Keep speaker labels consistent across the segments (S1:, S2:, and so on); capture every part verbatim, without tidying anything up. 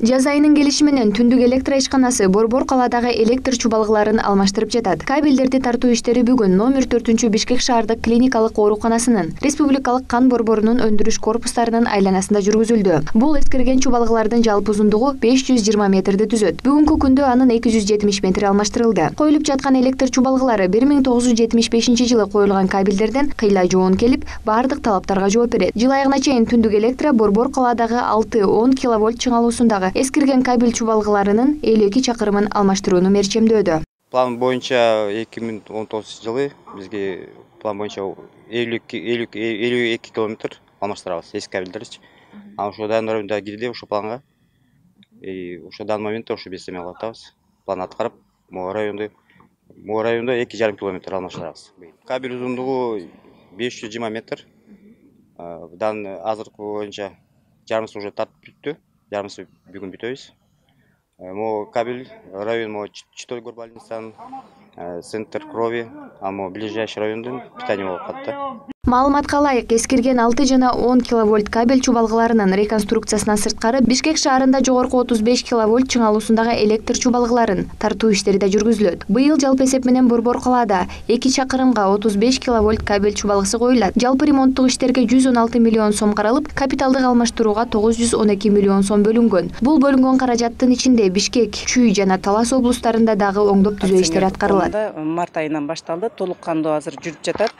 S1: Жаз айынын келиши менен Түндүк электр ишканасы Борбор калаадагы электр чубалыкларын алмаштырып жатат. Кабелдерди тартуу иштери бүгүн номер төртүнчү Бишкек шаардык клиникалык ооруканасынын Республикалык кан борборунун өндүрүш корпустарынын айланасында жүргүзүлдү. Бул эскирген чубалыклардын жалпы узундугу беш жүз жыйырма метрди түзөт. Бүгүнкү күндө анын эки жүз жетимиш метри алмаштырылды. Коюлуп жаткан электр чубалыклары бир миң тогуз жүз жетимиш бешинчи жылы коюлган кабелдерден кыйла жоон келип, бардык талаптарга жооп берет. Жыл айыгына чейин Түндүк электро Борбор калаадагы алты он киловольт чыңалуусундагы эскирген кабель чубалыкларынын элүү эки чакырымын алмаштырууну мерчемдөөдө.
S2: План боюнча эки миң он тогузунчу жылы бизге план боюнча элүү эки километр алмаштырабыз эски кабелдерди. Анан ошо дайын районда кирди ошо планга. И ошо данный моментте ошо биз эме кылып атабыз. План аткарып, могу районду могу райондо эки жарым километр алмаштырабыз. Кабель узундугу беш жүз жыйырма метр. Дан азыркы боюнча жарымысы уже тартып бүттү. Жарымысы бүгүн бүтөбүз. Могу кабель район могу Читой горбольницанын, центр крови, а могу ближайший райондун питание болуп калат.
S1: Маалыматка ылайык, эскирген алты жана он киловольт кабель чубалыкларынын реконструкциясынан сырткары Бишкек шаарында жогорку отуз беш киловольт чыңалуусундагы электр чубалыкларын тартуу иштери да жүргүзүлөт. Быйыл жалпы эсеп менен Борбор калаада эки чакырымга отуз беш киловольт кабель чубалыксы коюлат. Жалпы ремонттук иштерге жүз он алты миллион сом каралып, капиталдык алмаштырууга тогуз жүз он эки миллион сом бөлүнгөн. Бул бөлүнгөн каражаттын ичинде Бишкек, Чүй жана Талас облустарында дагы оңдоп түзөө иштери аткарылат.
S3: Март айынан башталды, толук кандуу азыр жүрүп жатат.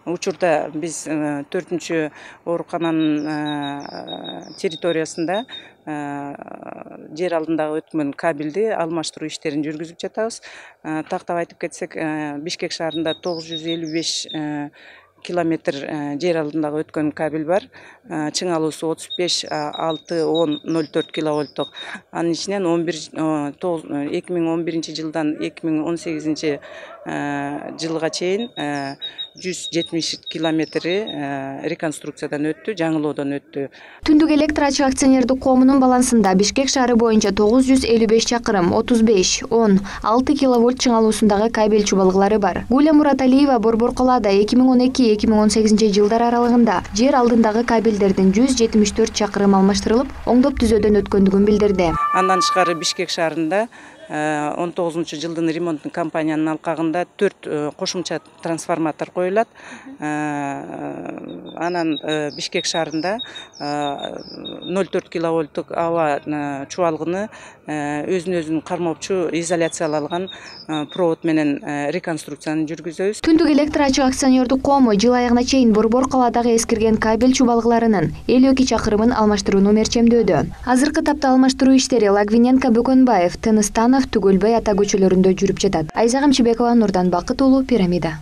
S3: Учурда биз төртүнчү оорукананын территориясында жер алдындагы өткөн кабелди алмаштыруу иштерин жүргүзүп жатабыз. Тактап айтып кетсек, Бишкек шаарында тогуз жүз элүү беш километр жер алдындагы өткөн кабель бар. Чыңалуусу отуз беш алты он ноль төрт киловольттук. Анын ичинен эки миң он биринчи жылдан эки миң он сегизинчи жылга чейин жүз жетимиш километри реконструкциядан өттү, жаңылоодон өттү.
S1: Түндүк электр ачык акционердик коомунун балансында Бишкек шаары боюнча тогуз жүз элүү беш чакырым, отуз беш он алты киловольт чыңалуусундагы кабель чубалыклары бар. Гуля Мураталиева Борбор калаада эки миң он эки эки миң он сегизинчи жылдар аралыгында жер алдындагы кабелдердин жүз жетимиш төрт чакырым алмаштырылып, оңдоп түзөөдөн өткөндүгүн билдирди.
S3: Андан тышкары Бишкек шаарында он тогузунчу жылдын ремонттун кампаниянын алкагында төрт кошумча трансформатор коюлат. Анан Бишкек шаарында ноль төрт киловольттук аба чубалыгыны өзүн өзүн кармоочу изоляциялалган провод менен реконструкцияны жүргүзөбүз.
S1: Түндүк электр ачык акционердик коому жыл айыгына чейин Борбор калаадагы эскирген кабель чубалыкларынын элүү эки чакырымын алмаштырууну мерчемдөөдө. Азыркы тапта алмаштыруу иштери Лагвиненко, Бөкөнбаев, Тыныстанов, Түгөлбай ата көчөлөрүндө жүрүп жатат. Айза Камчыбекова, Нурдан Бакыт уулу, Пирамида.